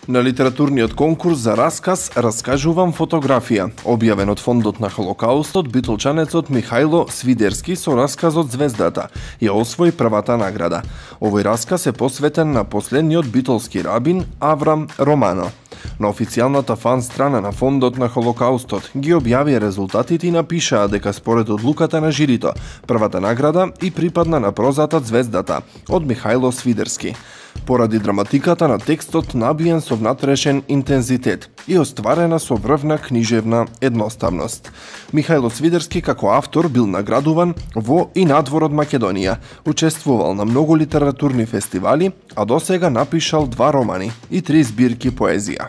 На литературниот конкурс за расказ "Раскажувам фотографија", објавен од Фондот на Холокаустот, битолчанецот Михајло Свидерски со расказот "Звездата" ја освои првата награда. Овој расказ е посветен на последниот битолски рабин Аврам Романо. На официјалната фан страна на Фондот на Холокаустот ги објавија резултатите и напишаа дека според одлуката на жирито, првата награда и припадна на прозата "Звездата" од Михајло Свидерски. Поради драматиката на текстот набиен со внатрешен интензитет и остварена со врвна книжевна едноставност. Михајло Свидерски како автор бил наградуван во и надвор од Македонија, учествувал на многу литературни фестивали, а досега напишал 2 романи и 3 збирки поезија.